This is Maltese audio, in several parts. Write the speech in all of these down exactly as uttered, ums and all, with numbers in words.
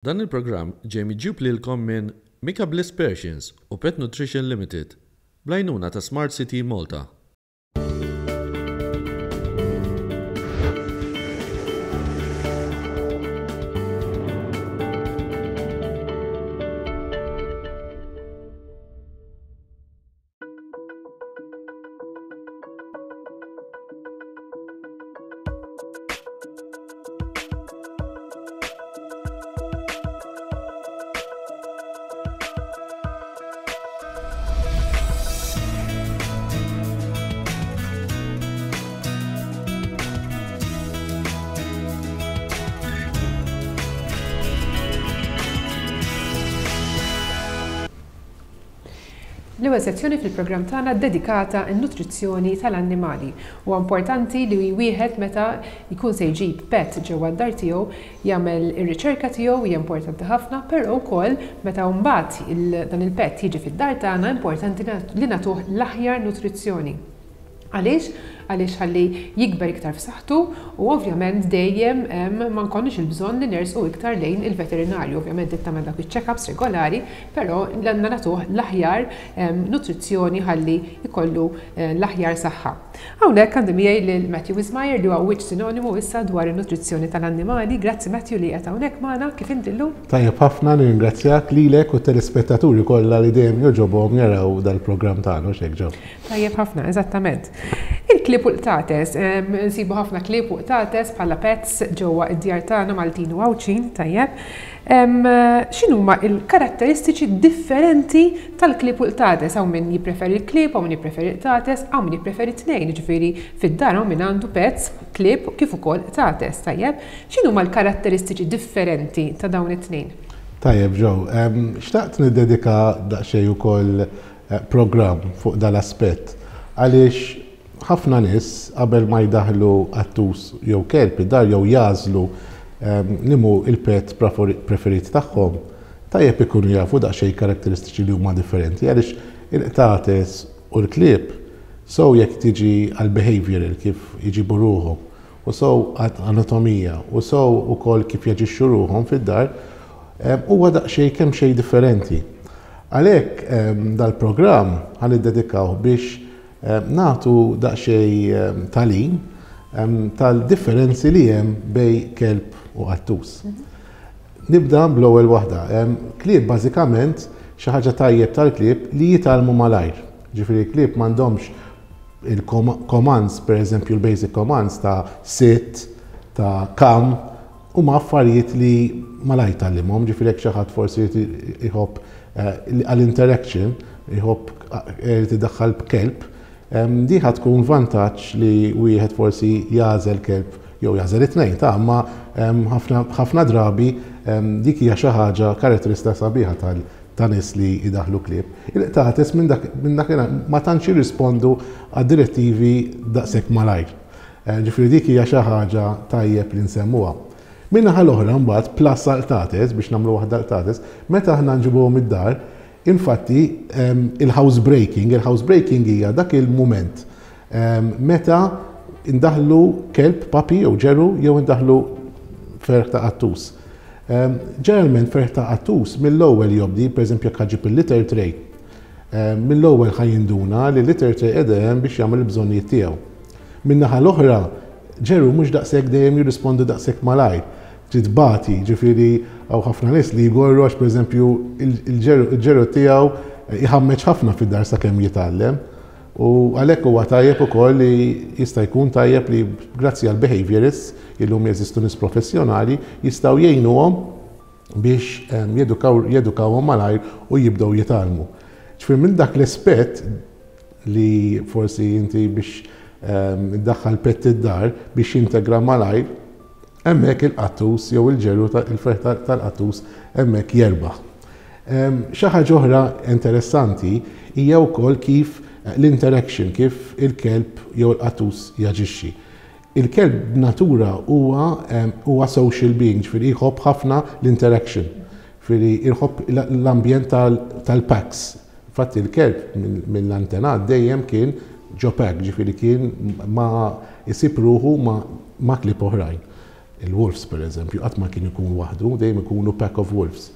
Dan il-programm ġej miġjub lilkom minn Mika Bliss Persians u Pet Nutrition Limited bl-għajnuna ta' Smart City Malta. L-ewwel sezzjoni fil-programm tagħna dedikata n-nutrizzjoni tal-annimali. Huwa importanti li wieħed meta jkun se jġib pet ġewwa d-dar tiegħu jagħmel ir-riċerka tiegħu, hija importanti ħafna, però wkoll meta mbagħad dan il-pet jiġi fid-dar tagħna, importanti li nagħtuh l-aħjar nutrizzjoni. Għaliex? Għaliex ħalli jikber iktar f'saħħtu u ovvjament dejjem ma nkollniex il-bżonn li nersqu iktar lejn il-veterinarju. Ovvjament trid tagħmel dak iċ-check-ups regolari, però għandna nagħtuh l-aħjar nutrizzjoni ħalli jkollu l-aħjar saħħa. Hawnhekk għandi miegħi lil Matthew Wismayer li huwa wiċċ sinonimu issa dwar in-nutrizzjoni tal-annimali. Grazzi, Matthew, li qed hawnhekk magħna. Kif inti llum? Tajjeb ħafna, nirringrazzjak lilek u telespettaturi kollha li dejjem jogħġobhom jaraw dal-programm tagħna, hekk ġew. Tajjeb ħafna, eżattament. Il-klieb u qtates, nsibu ħafna klieb u qtates bħala pets ġewwa id-djar tagħna Maltin u Għawdxin, tajjeb. X'inhuma l-karatteristiċi differenti tal-klieb u qtates? Hawn min jippreferi l-klieb, hawn min jippreferi l-qtates, hawn min jippreferi t-tnejn, jiġifieri fid-dar hawn min għandu pets, klieb kif ukoll qtates, tajjeb. X'inhuma l-karatteristiċi differenti ta' dawn it-tnejn? Tajjeb, Joe, xtaqt niddedika daqsxejn ukoll programm fuq dal-aspett, għaliex ħafna nies qabel ma jdaħlu qattus jew kelb id-dar jew jagħżlu limu il-pet preferit tagħhom, tajjeb ikunu jafu daqsxejn karatteristiċi li huma differenti, għaliex il-qtates u l-klieb sew jekk tiġi għal behavioral, kif iġibu ruħhom, u sew anatomija, u sew ukoll kif jaġixxu ruħhom fid-dar, huwa daqsxejn kemm xejn differenti. Għalhekk dal-programm ħa niddedikaw biex nagħtu daqsxejn tagħlim tal-differenzi li hemm bejn kelb u qattus. Nibda bl-ewwel waħda. Klieb bażikament xi ħaġa tajjeb tal-klieb li jitgħallmu malajr. Ġifieri klieb m'għandhomx il-commands, pereżempju l-basic commands ta' sit, ta' come, huma affarijiet li malajr tgħallimhom. Ġifieri jekk xi ħadd forsi jħobb għall-interaction, jħobb tiddaħħal b'kelb, di ħa tkun vantaġġ li wieħed forsi jagħżel kelb jew jagħżel it-tnejn ta' imma ħafna drabi dik hija xi ħaġa karatteristika sabiħa ta' nies li jdaħlu klieb. Il-qtates minn dak ma tantx jirrispondu għad-direttivi daqshekk malajr. Ġifieri dik hija xi ħaġa tajjeb li nsemmuha. Min-naħa l-oħra mbagħad plus għall-qtates, biex nagħmlu waħda l-qtates, meta aħna nġibuhom id-dar, infatti il-house breaking, il-house breaking hija dak il-mument meta indaħlu kelb, puppy jew ġeru, jew indaħlu ferħ ta' qattus. Ġeneralment ferħ ta' qattus mill-ewwel jobdi, pereżempju jekk ħaġib il-litter tray, mill-ewwel ħa jinduna li l-litter tray qiegħda hemm biex jagħmel il-bżonnijiet tiegħu. Min-naħa l-oħra, ġeru mhux daqshekk dejjem jirrispondu daqshekk malajr. Trid tbati, ġifieri hawn ħafna nies li jgorru għax pereżempju il-ġeru tiegħu jħammeġ ħafna fid-dar sakemm jitgħallem. U għalhekk huwa tajjeb ukoll li jista' jkun tajjeb li grazzi għal behaviorists illum jeżistu nies professjonali jistgħu jgħinuhom biex jedukawhom malajr u jibdew jitgħallmu. Ġifieri minn dak l-aspett li forsi inti biex iddaħħal pet id-dar biex jintegra malajr, hemmhekk il-qattus jew il-ġeru il-ferħ tal-qattus hemmhekk jerbaħ. Xi ħaġa oħra interessanti hija wkoll kif l-interaction, kif il-kelb jew il-qattus jaġixxi. Il-kelb b'natura huwa huwa social being, ġifieri jħobb ħafna l-interaction, ġifieri jħobb l-ambjent tal-packs. Infatti il-kelb mill-antenat dejjem kien ġo pack, ġifieri kien ma jsib ruħu ma' klieb oħrajn. Il-wolves, per eżempju, qatt ma kien ikun waħdu, dejjem ikunu pack of wolves.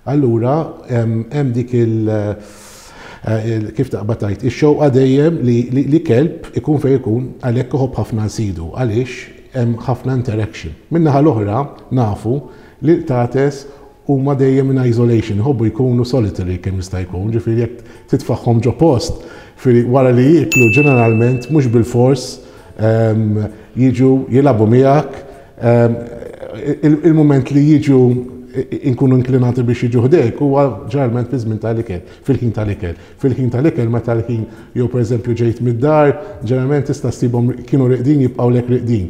Allura, hemm dik il- eh, kif taqbad tgħid, ix-xewqa dejjem li kelb ikun fejn ikun, għalhekk iħobb ħafna sidu, għaliex hemm ħafna interaction. Min-naħa l-oħra nafu li l-qtates huma dejjem in isolation, jħobbu jkunu solitary kemm jista' jkun, ġifieri jekk titfagħhom ġo post, wara li jieklu ġeneralment mhux bil-fors jiġu jilagħbu miegħek, il-moment li jiġu inkunu inklinati biex jiġu ħdejk huwa ġeneralment fi żmien tal-ikel, fil-ħin tal-ikel. Fil-ħin tal-ikel meta l-ħin jew pereżempju ġejt mid-dar, ġeneralment tista' ssibhom kienu reqdin, jibqgħu lek reqdin.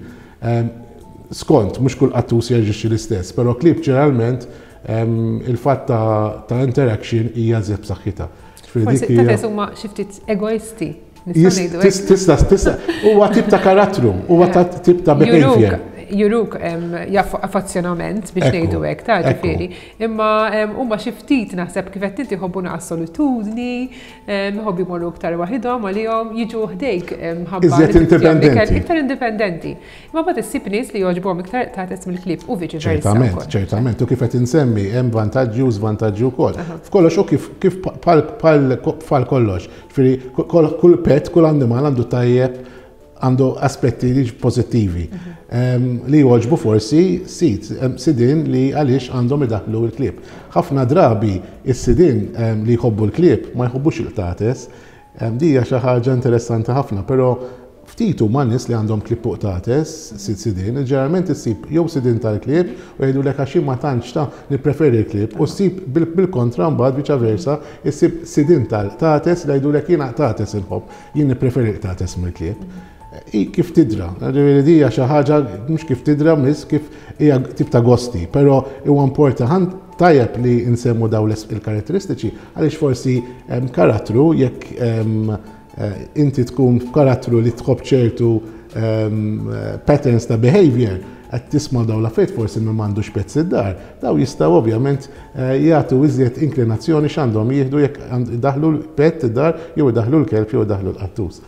Skont, mhux kull qattus jaġixxi l-istess, però klieb ġeneralment il-fatt ta' interaction hija żjed b'saħħitha. Forsi qtates huma xi ftit egoisti. Tista, tista, huwa tip ta' karattru, huwa tip ta' behavior. Juruk affazzjonament biex ngħidu hekk ta' ġifieri. Imma huma xi ftit, naħseb kif qed inti, jħobbu naqas solitudni, jħobbu jmorru iktar waħidhom għalihom, jiġu ħdejk ħabba. Iżjed indipendenti. Iktar indipendenti. Imma mbagħad issib nies li jogħġbuhom iktar qtates mill-klieb u viċi versa. Ċertament, ċertament. U kif qed insemmi, hemm vantaġġi u żvantaġġi wkoll. F'kollox u kif kif bħal kollox. Ġifieri kull pet, kull annimal għandu tajjeb, għandu aspetti li pozittivi li jogħġbu forsi sid, sidin li għaliex għandhom idaħlu l-klieb. Ħafna drabi is-sidin li jħobbu l-klieb ma jħobbux il-qtates. Di hija xi ħaġa interessanti ħafna, però ftit huma nies li għandhom klieb u qtates, sid sidin, ġeneralment issib jew sidin tal-klieb u jgħidu għax ma tantx ta' nippreferi l-klieb, u ssib bil-kontra mbagħad, viċa versa, issib sidin tal-qtates li jgħidu jiena qtates inħobb, jien nippreferi l-qtates mill-klieb. Kif tidra, ġifieri di hija xi ħaġa mhux kif tidra miss kif hija tip ta' gosti, però huwa importanti, tajjeb li nsemmu daw il-karatteristiċi għaliex forsi karattru, jekk eh, inti tkun f'karattru li tħobb ċertu patterns ta' behavior, qed tisma' daw l-affarijiet, forsi min m'għandux pets id-dar, daw jistgħu ovvjament eh, jagħtu iżjed inklinazzjoni x'għandhom jieħdu jekk daħlu l-pet id-dar, jew daħlu l-kelb jew daħlu l-qattus.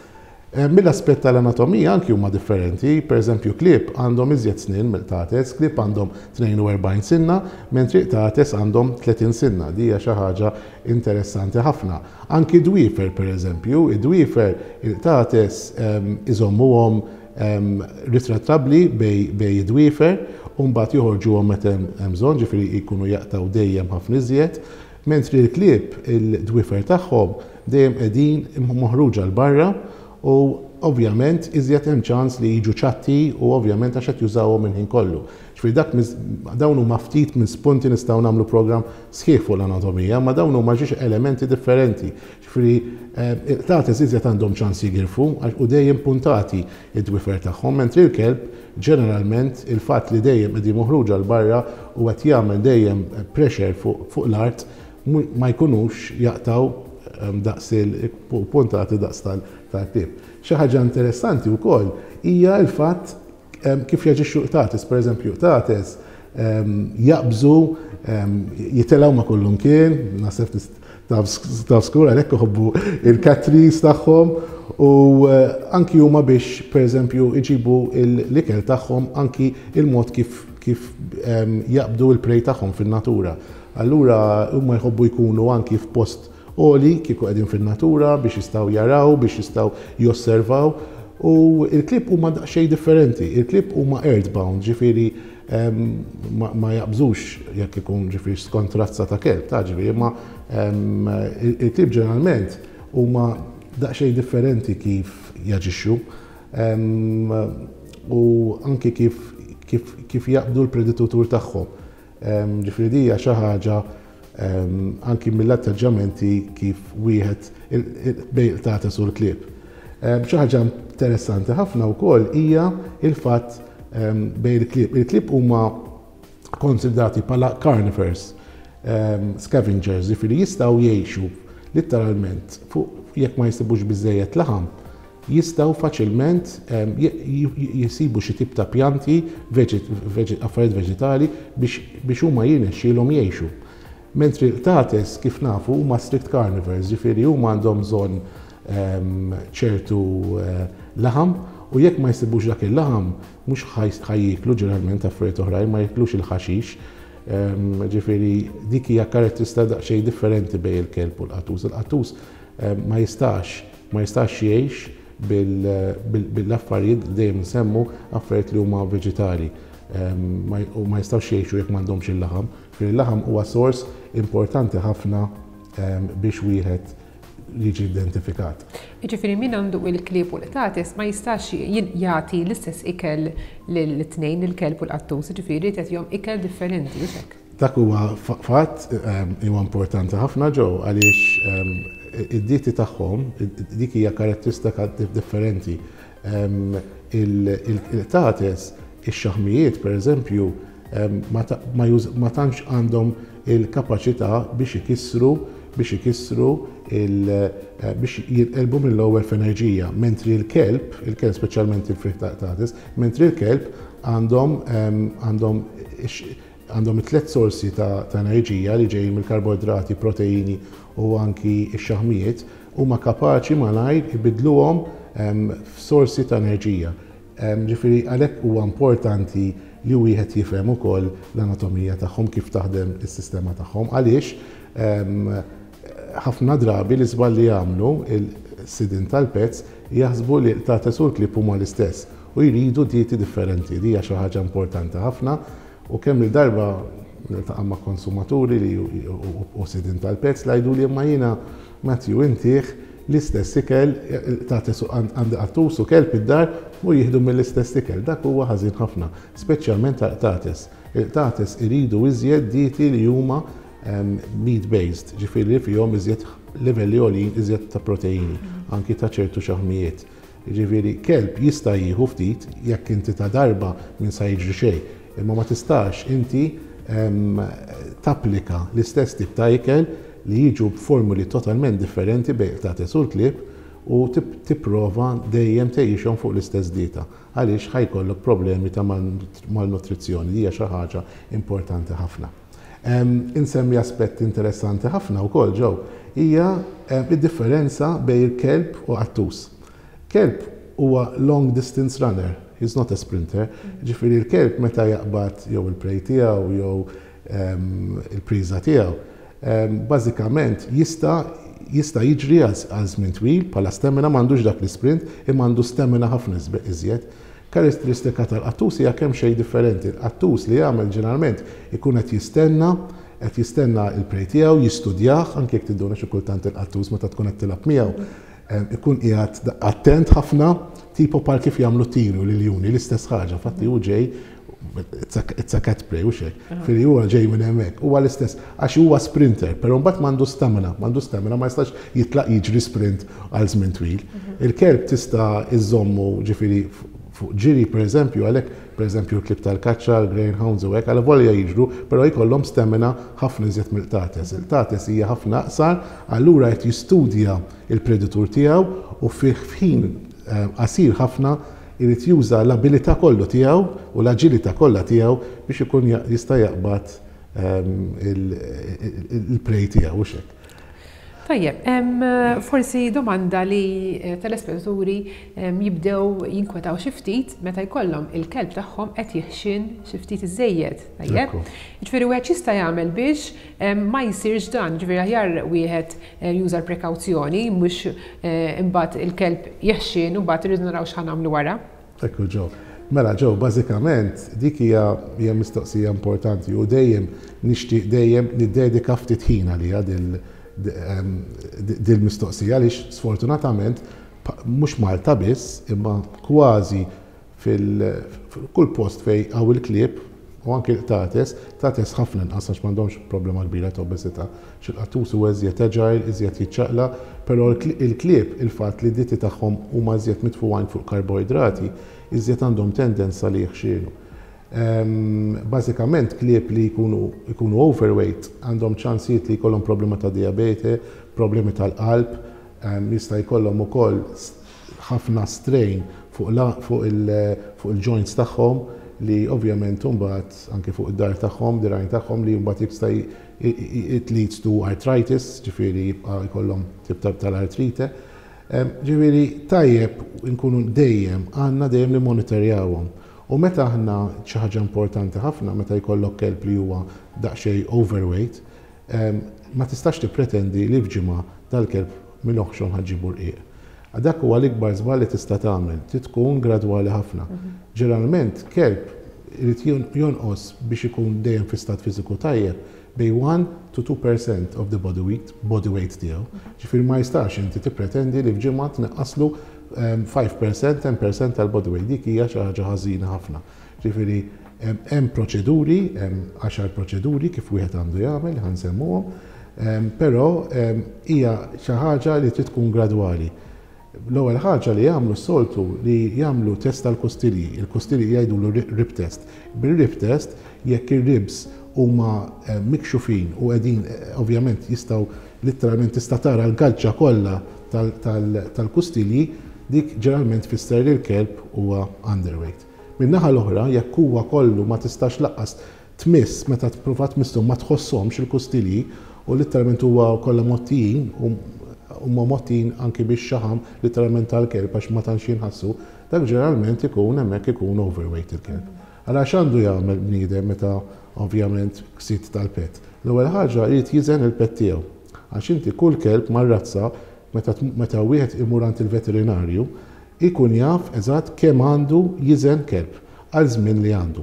Eh, mill-aspett tal-anatomija anki huma differenti, per eżempju klieb għandhom iżjed snin mill-qtates, klieb għandhom tnejn u erbgħin sinna, mentri qtates għandhom tletin sinna. Di hija xi ħaġa interessanti ħafna. Anki dwifer, per eżempju, id-dwifer il-qtates ehm, iżommuhom ehm, ritrattabbli bejn id-dwifer u mbagħad joħorġuhom meta hemm bżonn, ġifieri jkunu jaqtaw dejjem ħafna iżjed, mentri l-klieb il-dwifer tagħhom dejjem qegħdin moħruġa 'l barra u ovvjament iżjed hemm ċans li jiġu ċatti u ovvjament għax qed jużawhom minn ħin kollu. Ġifieri dak dawn huma ftit minn spunti, nistgħu nagħmlu programm sħiħ fuq l-anatomija, ma dawn huma ġiex elementi differenti. Ġifieri il-qtates iżjed għandhom ċans jigirfu u dejjem puntati id-dwifer tagħhom, mentri l-kelb ġeneralment il-fatt li dejjem qegħdin moħruġa 'l barra u qed jagħmel dejjem pressure fuq l-art, ma jkunux jaqtaw daqs il-puntati daqs tal-klieb. Xi ħaġa interessanti wkoll hija l-fatt kif jaġixxu qtates, per eżempju, qtates jaqbżu, jitilgħu ma' kullimkien, naħseb taf skur għalhekk iħobbu il-cat trees tagħhom u eh, anki huma biex per eżempju iġibu l-ikel tagħhom, anki il-mod kif kif jaqbdu il-prey tagħhom fin-natura. Allura huma jħobbu jkunu anki f'post għoli kieku qegħdin fin-natura biex jistgħu jaraw, biex jistgħu josservaw. U il-klieb huma daqsxejn differenti. Il-klieb huma earthbound, ġifieri ma jaqbżux jekk ikun, ġifieri skont razza ta' kelb, ta' ġifieri, ma il-klieb ġeneralment huma daqsxejn differenti kif jaġixxu u anki kif kif kif jaqbdu l-predatur tagħhom. Ġifieri di hija xi ħaġa anki mill-atteġġamenti kif wieħed bejn qtates u l-klieb. Xi ħaġa interessanti ħafna wkoll hija il-fatt bejn il-klieb. Il-klieb huma konsidrati bħala carnivores, scavengers, ġifieri jistgħu jgħixu letteralment fuq jekk ma jsibux biżejjed laħam, jistgħu faċilment jisibu xi tip ta' pjanti, affarijiet veġitali biex huma jirnexxielhom jgħixu. Mentri l-qtates, kif nafu, huma strict carnivores, ġifieri huma għandhom bżonn ċertu eh, laħam. U jekk ma jsibux dak il-laħam, mhux ħa jieklu ġeneralment affarijiet oħrajn, ma jiklux il-ħaxix. Ġifieri dik hija karatteristika daqsxejn differenti bejn il-kelb u l-qattus. Il-qattus ma jistax ma jistax jgħix bil-affarijiet, dejjem nsemmu affarijiet li huma veġitali u ma jistgħux jgħixu jekk m'għandhomx il-laħam. Il-laħam huwa sors importanti ħafna biex wieħed jiġi identifikat. Jiġifieri min għandu il-klieb u l-qtates ma jistax jagħti l-istess ikel lill-tnejn, il-kelb u l-qattus, jiġifieri jagħtihom ikel differenti, hux hekk? Dak huwa fatt huwa importanti ħafna ġew għaliex id-dieti tagħhom dik hija karatteristika differenti. Il-qtates, ix-xaħmijiet pereżempju, ma tantx għandhom il-kapaċità biex ikissru biex ikissru biex jinqelbu mill-ewwel f'enerġija, mentri l-kelb, il-kelb speċjalment il-friħ ta' qtates, mentri l-kelb għandhom għandhom għandhom tliet sorsi ta' enerġija li ġejjin mill-karboidrati, proteini u anki x-xaħmijiet, huma kapaċi malajr ibidluhom f'sorsi ta' enerġija. Ġifieri għalhekk huwa importanti li wieħed jifhem ukoll l-anatomija tagħhom, kif taħdem is-sistema tagħhom, għaliex ħafna drabi li żball li jagħmlu il-sidin tal-pets jaħsbu li qtates u l-klieb huma l-istess u jridu dieti differenti. Di hija xi ħaġa importanti ħafna u kemm il-darba niltaqa' ma' konsumaturi li u sidin tal-pets li jgħidu li imma jiena, Matthew, intih l-istess ikel, qtates għandi qattus u kelb id-dar u jieħdu mill-istess ikel. Dak huwa ħażin ħafna, speċjalment tal-qtates. Il-qtates iridu iżjed dieti li huma meat-based, ġifieri fihom iżjed livelli għoljin iżjed ta' proteini, anki ta' ċertu xaħmijiet. Ġifieri kelb jista' jieħu ftit jekk inti ta' darba minn sa jiġri xejn, imma ma tistax inti tapplika l-istess tip ta' ikel li jiġu b'formuli totalment differenti bejn qtates u l-klieb u tipprova dejjem tgħixhom fuq l-istess dieta, għaliex ħa jkollok problemi ta' malnutrizzjoni. Li hija xi ħaġa importanti ħafna. Insemmi aspett interessanti ħafna wkoll ġew hija id-differenza bejn il-kelb u qattus. Kelb huwa long distance runner, he's not a sprinter. Ġifieri l-kelb meta jaqbad jew il-prey tiegħu jew il-priża tiegħu, bażikament jista' jista' jiġri għal żmien twil bħala stamina, m'għandux dak l-isprint, imma għandu stamina ħafna iżjed. Karatteristika tal-qattus hija kemm xejn differenti. Il-qattus li jagħmel ġeneralment ikun qed jistenna, qed jistenna il-prey tiegħu, jistudjah, anke jekk tinduna xi kultant il-qattus meta tkun qed tilgħab miegħu, ikun qiegħed attent ħafna, tipo bħal kif jagħmlu tiru l-iljuni, l-istess ħaġa, fatti hu ġej, it's a cat prey u xek, fili huwa ġej minn hemmhekk, huwa l-istess, għax huwa sprinter, però mbagħad m'għandu stamina, m'għandu stamina, ma jistax jitlaq jiġri sprint għal żmien twil. Il-kelb tista' iżommu ġifieri fuq ġiri pereżempju, għalhekk pereżempju l-klieb tal-kaċċa, l-greyhounds u hekk, għal volja jiġru, però jkollhom stamina ħafna iżjed mill-qtates. Il-qtates hija ħafna aqsar, allura qed jistudja il-predatur tiegħu u fih f'ħin qasir ħafna irid juża l-abilità kollu tiegħu u l-aġilità kollha tiegħu biex ikun jista' jaqbad il-prey tiegħu u xek. Tajjeb, forsi domanda li eh, telespettaturi jibdew jinkwetaw xi ftit meta jkollhom il-kelb tagħhom qed jeħxien xi ftit iżejjed. Tajjeb? Ġifieri wieħed jista' jagħmel biex ma jsirx dan, ġifieri aħjar wieħed eh, juża l-prekawzjoni, mhux eh, imbagħad il-kelb jeħxien u mbagħad irridu naraw x'ħa nagħmlu wara. Ekku ġew. Mela ġew, bażikament dik hija hija mistoqsija importanti u dejjem nixtieq dejjem niddedika ftit ħin għaliha dil-mistoqsija, għaliex sfortunatament mhux Malta biss, imma kważi fil-kull post fej hawn il-klieb u anke qtates, qtates ħafna inqas għax m'għandhomx problema kbira ta' obesità. Xil-qattus huwa iżjed agile, iżjed jiċċaqla, però il-klieb, il-fatt li dieti tagħhom huma iżjed mitfugħin fuq karboidrati, iżjed għandhom tendenza li jħxienu. Bażikament klieb li jkunu overweight għandhom ċansijiet li jkollhom problema ta' diabete, problemi tal-qalb, jista' jkollhom ukoll ħafna strain fuq il-joints tagħhom li ovvjament imbagħad anke fuq id-dahar tagħhom, dirgħajn tagħhom, li mbagħad jista' it leads to arthritis, ġifieri jibqa' jkollhom tip tal-artrite. Ġifieri tajjeb nkunu dejjem għandna dejjem li monitorjawhom. U meta aħna xi ħaġa importanti ħafna meta jkollok kelb li huwa daqsxejn overweight, ma tistax tippretendi li f'ġimgħa dal-kelb mill-oħxon ħa ġġibu rqiq. Dak huwa l-ikbar żball li tista' tagħmel, trid tkun gradwali ħafna. Ġeneralment kelb irid jonqos biex ikun dejjem fi stat fiżiku tajjeb bejn one to two percent of the body weight, body weight tiegħu. Ġifieri ma jistax inti tippretendi li f'ġimgħa tnaqqaslu five percent, ten percent tal-body weight. Dik hija xi ħaġa ħażina ħafna. Ġifieri hemm proċeduri, hemm għaxar proċeduri kif wieħed għandu jagħmel, ħa nsemmuhom, però hija xi ħaġa li trid tkun gradwali. L-ewwel ħaġa li jagħmlu s-soltu li jagħmlu test tal-kustilji, il-kustilji jgħidulu rib test. Bil-rib test, jekk ir-ribs huma mikxufin u qegħdin, ovvjament, jistgħu literalment tista' tara l-gaġġa kollha tal-kustilji, dik ġeneralment tfisser li l-kelb huwa underweight. Min-naħa l-oħra, jekk huwa kollu ma tistax lanqas tmiss, meta tipprova tmisshom ma tħossomx il-kustilji u literalment huwa kollha mgħottijin, huma mgħottijin anki biex xaħam literalment tal-kelb għax ma tantx jinħassu, dak ġeneralment ikun hemmhekk ikun overweight il-kelb. Għala x'għandu jagħmel bniedem meta ovvjament sid tal-pet? L-ewwel ħaġa, jrid jiżen il-pet tiegħu. Għax inti kull kelb mar-razza, meta meta wieħed imur għand il-veterinarju, ikun jaf eżatt kemm għandu jiżen kelb għal żmien li għandu.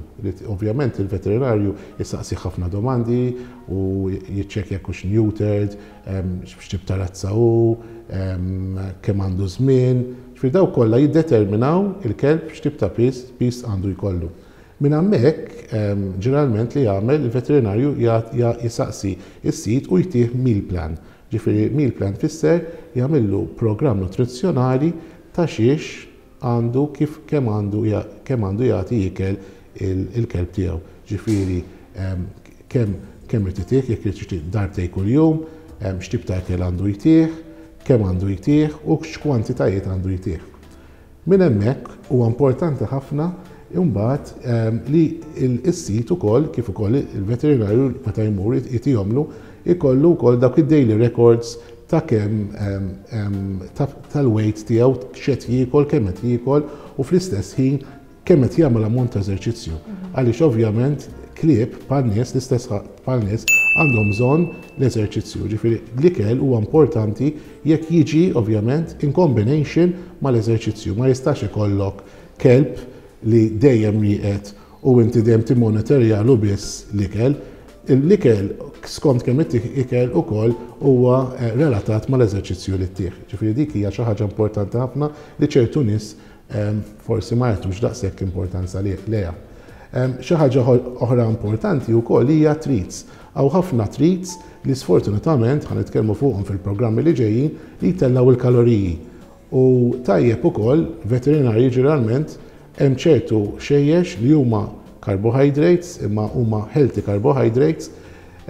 Ovvjament il-veterinarju jistaqsi ħafna domandi u jiċċekkja jekk hux neutered, x'tip ta' razza hu, kemm għandu żmien. Ġifieri daw kollha jiddeterminaw il-kelb x'tip ta' piż piż għandu jkollu. Minn hemmhekk, ġeneralment li jagħmel il-veterinarju, jisaqsi is-sid u jtih meal plan. Ġifieri meal plan fisser jagħmillu programm nutrizzjonali ta' xiex għandu, kif kemm għandu kemm għandu jagħti jikel il-kelb tiegħu. Ġifieri kemm kemm irid itih, jekk irid darbtejn kuljum, x'tip ta' ikel għandu jtih, kemm għandu jtih u x'kwantitajiet għandu jtih. Minn hemmhekk huwa importanti ħafna imbagħad li s-sid ukoll kif ukoll il-veterinarju meta jmur jtihomlu ikollu wkoll dawk id-daily records ta' kemm tal-weight tiegħu, x'qed jiekol, kemm qed jiekol u fl-istess ħin kemm qed jagħmel ammont ta' eżerċizzju. Għaliex ovvjament klieb bħal nies, l-istess bħal nies, għandhom bżonn l-eżerċizzju. Ġifieri l-ikel huwa importanti jekk jiġi ovvjament in combination mal-eżerċizzju. Ma jistax ikollok kelb li dejjem rieqed u inti dejjem timmonitorjalu biss l-ikel. L-ikel skont kemm ittih ikel ukoll huwa eh, relatat mal-eżerċizzju li ttih. Ġifieri dik hija xi ħaġa importanti ħafna li ċertu nies forsi ma jagħtux daqshekk importanza lejha. Xi ħaġa oħra importanti wkoll hija treats. Hawn ħafna treats li sfortunatament, ħa nitkellmu fuqhom fil-programmi li ġejjin, li jtellaw il-kaloriji. U tajjeb ukoll veterinarji, ġeneralment hemm ċertu ħxejjex li huma carbohydrates imma huma healthy carbohydrates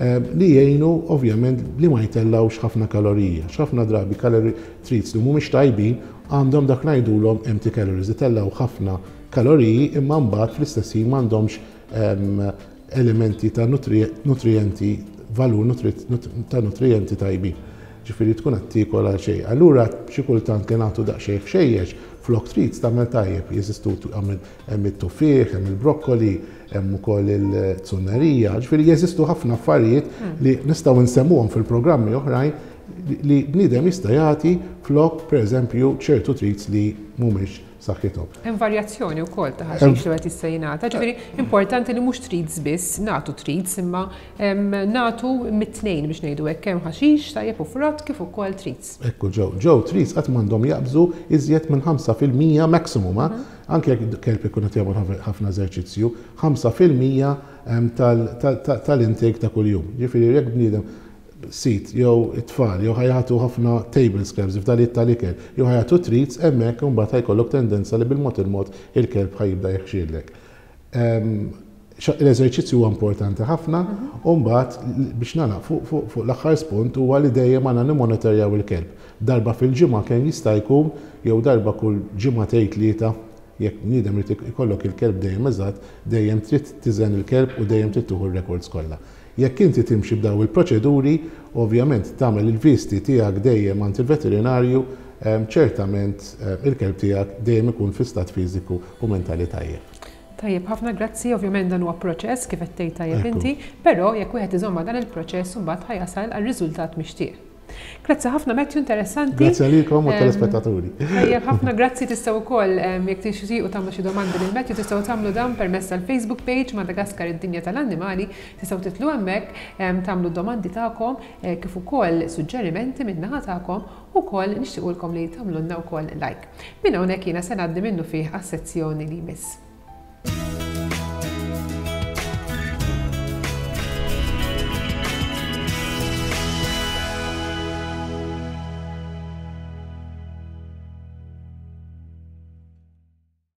li jgħinu ovvjament li ma jtellawx ħafna kaloriji. Ħafna drabi calorie treats li mhumiex tajbin għandhom dak ngħidulhom empty calories, jtellaw ħafna kaloriji imma mbagħad fl-istess ħin m'għandhomx elementi ta' nutrienti, valur ta' nutrienti tajbin. Ġifieri tkun qed tiekol għal xejn. Allura xi kultant li nagħtu daqsxejn ħxejjex flok treats tagħmel tajjeb. Jeżistu, hemm it-tuffieħ, hemm il-brokkoli, hemm ukoll il-zunnerija. Ġifieri jeżistu ħafna affarijiet li nistgħu nsemmuhom fil-programmi oħrajn li bniedem jista' jagħti flok, pereżempju, ċertu treats li mhumiex saħħithom. Hemm varjazzjoni wkoll ta' ħaxix li qed jista' jingħata. Ġifieri importanti li mhux treats biss, nagħtu treats imma nagħtu mit-tnejn, biex ngħidu hekk, hemm ħaxix tajjeb u frott kif ukoll treats. Ekku ġew, ġew treats qatt m'għandhom jaqbżu iżjed minn ħamsa fil-mija maximum, mhm. anke jekk kelb ikun qed jagħmel ħafna eżerċizzju, ħamsa fil-mija tal-intake ta' kuljum. Ġifieri jekk bniedem sid jew it-tfal jew ħa jagħtu ħafna table scraps, fdalijiet tal-ikel, jew ħa jagħtu treats, hemmhekk imbagħad ħa jkollok tendenza li bil-mod il-mod il-kelb ħa jibda jeħxielek. L-eżerċizzju huwa importanti ħafna u mbagħad biex nagħlaq fuq l-aħħar spunt huwa li dejjem għandna nimmonitorjaw il-kelb. Darba fil-ġimgħa kemm jista' jkun jew darba kull ġimgħatejn, tlieta, jekk bniedem irid ikollok il-kelb dejjem eżatt, dejjem trid tiżen il-kelb u dejjem trid tieħu r-records kollha. Jekk inti timxi b'daw il-proċeduri, ovvjament tagħmel il-visti tiegħek dejjem għand il-veterinarju. Ċertament il-kelb tiegħek dejjem ikun fi stat fiżiku u mentali tajjeb. Tajjeb, ħafna grazzi, ovvjament dan huwa proċess kif qed tgħid tajjeb inti, però jekk wieħed iżomm dan il-proċess, imbagħad ħa jasal għal riżultat mixtieq. Grazzi ħafna, Matthew, interessanti. Grazzi għalikom u telespettaturi. Tajjeb ħafna, grazzi. Tistgħu wkoll, jekk tixtiequ tagħmlu xi domandi lil Matthew, tistgħu tagħmlu dan permezz tal-Facebook page Madagaskar id-Dinja tal-Annimali, tistgħu titilgħu hemmhekk, tagħmlu domandi tagħkom eh, kif ukoll suġġerimenti min-naħa tagħkom, ukoll nixtiequlkom li tagħmlulna wkoll like. Minn hawnhekk jiena se ngħaddi minnufih għas-sezzjoni li jmiss.